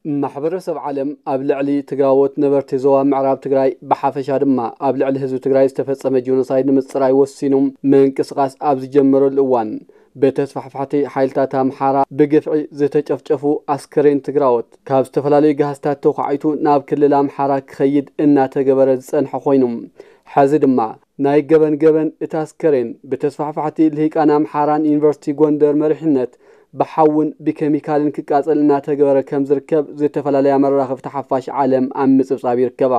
ማሕበረሰብ ዓለም ኣብ ልዕሊ ትግራዎት ነበርቲ ዞባ ምዕራብ ትግራይ ብሓፈሻ ድማ ኣብ ልዕሊ ህዝቢ ትግራይ ዝተፈጸመ ጆኖሳይድ ንምጽራይ ወሲኑ ምንቅስቓስ ኣብ ዝጀመረሉ እዋን፣ ብተስፋሕፋሕቲ ሓይልታት ኣምሓራ ብግፍዒ ዝተጨፍጨፉ ኣስከሬን ትግራዎት ካብ ዝተፈላለዩ ጋህስታት ተዃዒቱ ናብ ክልል ኣምሓራ ክኸይድ እናተገበረ ዝጸንሐ ኮይኑ፣ ሕዚ ድማ ናይ ገበን ገበን እቲ ኣስከሬን ብተስፋሕፋሕቲ ልሂቃን ኣምሓራን ዩኒቨርሲቲ ጎንደር መሪሕነት ብሓውን ብኬሚካልን ክቃጸል እናተገበረ ከም ዝርከብ ዝተፈላለያ መራኸብቲ ሓፋሽ ዓለም ኣብ ምጽብጻብ ይርከባ።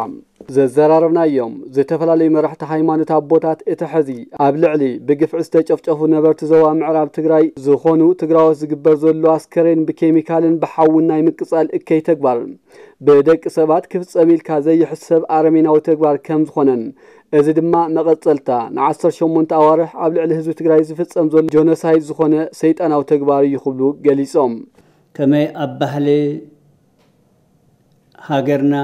ዘዘራረብናዮም ዝተፈላለዩ መራሕቲ ሃይማኖት ኣቦታት እቲ ሕዚ ኣብ ልዕሊ ብግፍዒ ዝተጨፍጨፉ ነበርቲ ዞባ ምዕራብ ትግራይ ዝኾኑ ትግራዎት ዝግበር ዘሎ ኣስከሬን ብኬሚካልን ብሓውን ናይ ምቅጻል እከይ ተግባር ብደቂ ሰባት ክፍጸም ኢልካ ዘይሕሰብ ኣረሜናዊ ተግባር ከም ዝኾነን፣ እዚ ድማ መቐጸልታ ንዓሰርተ ሸሞንተ ኣዋርሕ ኣብ ልዕሊ ህዝቢ ትግራይ ዝፍጸም ዘሎ ጆኖሳይድ ዝኾነ ሰይጣናዊ ተግባር እዩ ክብሉ ገሊጾም። ከመይ ኣብ ባህሊ ሃገርና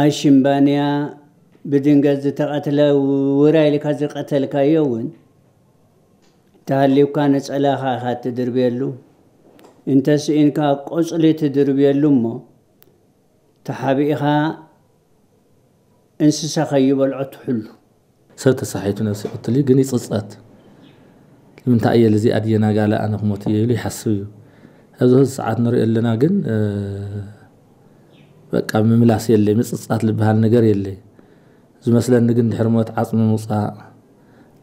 ኣሽምባንያ ብድንገት ዝተቐትለ ውራ ኢልካ ዝቐተልካዮ እውን እንተሃልዩካ ነጸላኻ ኢኻ ትድርብየሉ፣ እንተስኢንካ ቆጽሊ ትድርብየሉ እሞ ተሓቢእኻ እንስሳ ከይበልዖ ትሕሉ። ሰብ ተሳሒቱ ነብሲ ይቕትል እዩ፣ ግን ይጽጸት። ንምንታይ እየ ልዚኣ ድየ ናጋለ ኣነ ክሞት እየ ኢሉ ይሓስብ እዩ። ኣብዚ ሕዚ ሰዓት ንሪኦ ኣለና፣ ግን እ፣ በቃ ምምላስ የለይ፣ ምጽጻት ዝበሃል ነገር የለይ። ዝመስለኒ ግን ድሕሪ ሞት ዓጽሚ ምውጻእ፣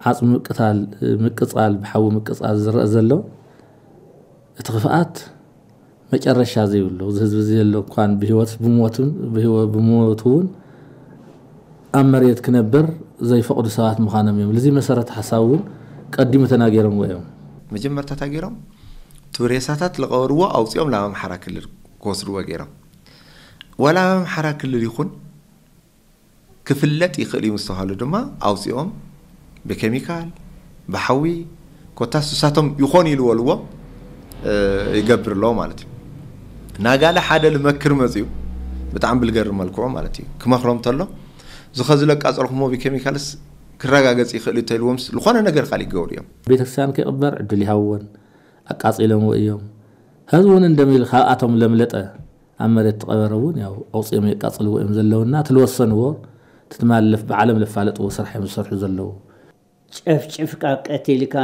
ዓጽሚ ምቅታል፣ ምቅጻል፣ ብሓዊ ምቅጻል ዝረአ ዘሎ እቲ ክፍኣት መጨረሻ ዘይብሉ፣ እዚ ህዝቢ እዚ ዘሎ እኳን ብህይወት ብሞቱን ብህይወ-፣ ብሞቱ እውን ኣብ መሬት ክነብር ዘይፈቕዱ ሰባት ምዃኖም እዮም። ልዚ መሰረት ሓሳብ እውን ቀዲሙ ተናገሮምዎ እዮም። መጀመርታ እንታይ ገይሮም? እቲ ሬሳታት ዝቐበርዎ ኣውፂኦም ናብ ኣምሓራ ክልል ክወስድዎ ገይሮም። ዋላ ኣብ ኣምሓራ ክልል ይኹን ክፍለጥ ይኽእል እዩ ምስ ተባህሉ ድማ ኣውፂኦም ብኬሚካል፣ ብሓዊ፣ ኮታስ ንሳቶም ይኾን ኢሉ ወልዎም፣ እ፣ ይገብር ኣለዎ ማለት እዩ። ናጋለ ሓደ ልመክር መፅዩ ብጣዕሚ ብልገርም መልክዑ ማለት እዩ ክመኽሮም ተሎ፣ እዚ ኸዚ ለቃፀልኩሞ ብኬሚካልስ ክረጋገፅ ይኽእል እዩ ተልዎም ዝኾነ ነገር ካልእ ይገብሩ እዮም። ቤተክርስትያን ከይቕበር ዕድል ይሃብዎን ኣቃፂሎምዎ እዮም። ህዝቢ እውን እንደሚል ካብኣቶም ለምለጠ ኣብ መሬት ትቐበረ እውን ያው ኣውፅኦም የቃፅልዎ እዮም ዘለውና፣ እቲ ልወሰንዎ፣ እቲ ትማሊ ለፍ-፣ ብዓለም ለፋለጥዎ ስራሕ እዮም ዝሰርሑ ዘለዉ። ጨፍጭፍካ ቀቲልካ፣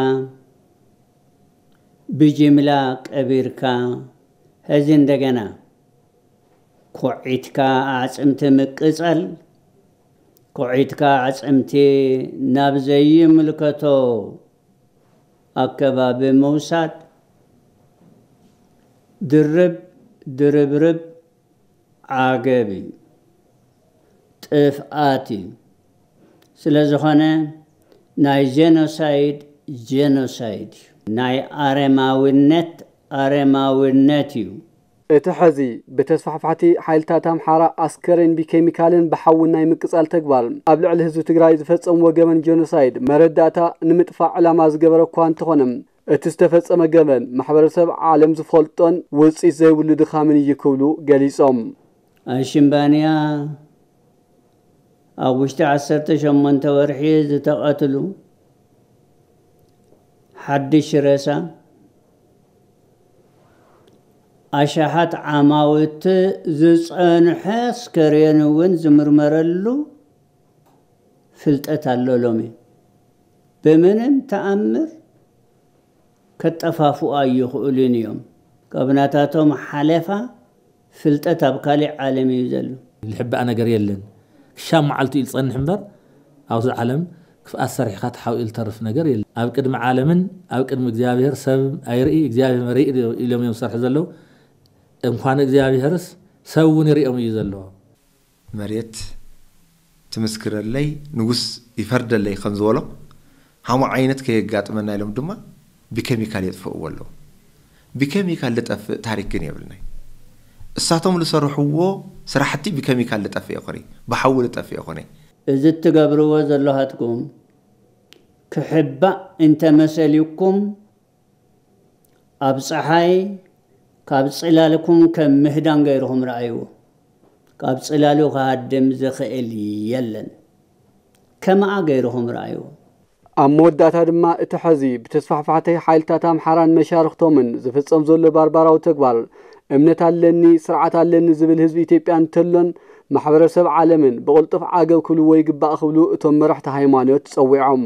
ብጅምላ ቀቢርካ፣ ሕዚ እንደገና ኮዒትካ ኣዕፅምቲ ምቅፃል፣ ኮዒትካ ኣዕፅምቲ ናብ ዘይምልከቶ ኣከባቢ ምውሳድ፣ ድርብ ድርብርብ ዓገብ እዩ፣ ጥፍኣት እዩ። ስለ ዝኾነ ናይ ጀኖሳይድ ጀኖሳይድ እዩ፣ ናይ ኣረማውነት ኣረማውነት እዩ። እቲ ሕዚ ብተስፋሕፋሕቲ ሓይልታት ኣምሓራ ኣስከሬን ብኬሚካልን ብሓውን ናይ ምቅጻል ተግባር ኣብ ልዕሊ ህዝቢ ትግራይ ዝፈጸምዎ ገበን ጀኖሳይድ መረዳእታ ንምጥፋእ ዕላማ ዝገበረ እኳ እንተኾነ፣ እቲ ዝተፈጸመ ገበን ማሕበረሰብ ዓለም ዝፈልጦን ውጽኢት ዘይብሉ ድኻምን እዩ ክብሉ ገሊጾም። ኣሽምባንያ ኣብ ውሽጢ ዓሰርተ ሸሞንተ ወርሒ ዝተቐትሉ ሓድሽ ሬሳ፣ ኣሽሓት ዓማውቲ ዝጸንሐ ኣስከሬን እውን ዝምርመረሉ ፍልጠት ኣሎ። ሎሚ ብምንም ተኣምር ከጠፋፍኡ ኣይኽእሉን እዮም። ካብ ናታቶም ሓለፋ ፍልጠት ኣብ ካሊእ ዓለም እዩ ዘሎ። ዝሕባእ ነገር የለን። ክሻብ መዓልቱ እዩ ዝጸንሕ እምበር፣ ኣብዚ ዓለም ክፍኣት ሰሪሕካ ተሓቢኡ ዝተርፍ ነገር የለን። ኣብ ቅድሚ ዓለምን ኣብ ቅድሚ እግዚኣብሔር ሰብ ኣይርኢ፣ እግዚኣብሔር መርኢ ኢሎም እዮም ዝሰርሑ ዘለዉ። እንኳን እግዚኣብሔርስ ሰብ እውን ይርእዮም እዩ ዘለዎ። መሬት ትምስክረለይ፣ ንጉስ ይፈርደለይ ከም ዝበሎ፣ ሃሞ ዓይነት ከየጋጥመና ኢሎም ድማ ብኬሚካል የጥፍእዎ ኣለዉ። ብኬሚካል ዝጠፍእ ታሪክ ግን የብልናይ። እሳቶም ዝሰርሕዎ ስራሕቲ ብኬሚካል ዝጠፍእ ይኹን፣ ብሓዊ ዝጠፍእ ይኹን። እዚ እትገብርዎ ዘለኻትኩም ክሕባእ እንተመሰልኩም፣ ኣብ ጸሓይ ካብ ጽላልኩም ከም ምህዳን ገይርኹም ረኣይዎ። ካብ ጽላሉ ክሃድም ዝኽእል የለን። ከምኣ ገይርኹም ረኣይዎ። ኣብ መወዳእታ ድማ እቲ ሕዚ ብተስፋሕፋሕቲ ሓይልታት ኣምሓራን መሻርኽቶምን ዝፍጸም ዘሎ ባርባራዊ ተግባር እምነት ኣለኒ፣ ስርዓት ኣለኒ ዝብል ህዝቢ ኢትዮጵያ እንተሎን ማሕበረሰብ ዓለምን ብቕልጡፍ ዓገብ ክብልዎ ይግባእ ክብሉ እቶም መራሕቲ ሃይማኖት ጸዊዖም።